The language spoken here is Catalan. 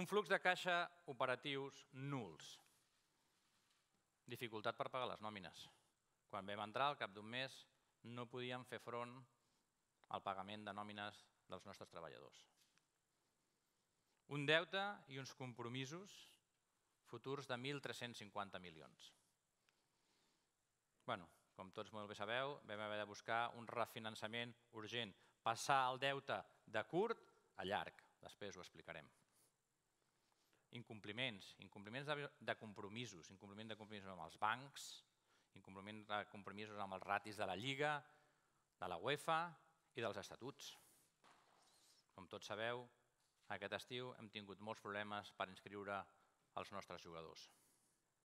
Un flux de caixa operatius nuls. Dificultat per pagar les nòmines. Quan vam entrar, al cap d'un mes, no podíem fer front al pagament de nòmines dels nostres treballadors. Un deute i uns compromisos futurs de 1.350 milions. Com tots molt bé sabeu, vam haver de buscar un refinançament urgent, passar el deute de curt a llarg. Després ho explicarem. Incompliments de compromisos, incompliment de compromisos amb els bancs, incompliment de compromisos amb els ratis de la Lliga, de la UEFA i dels estatuts. Com tots sabeu, aquest estiu hem tingut molts problemes per inscriure els nostres jugadors.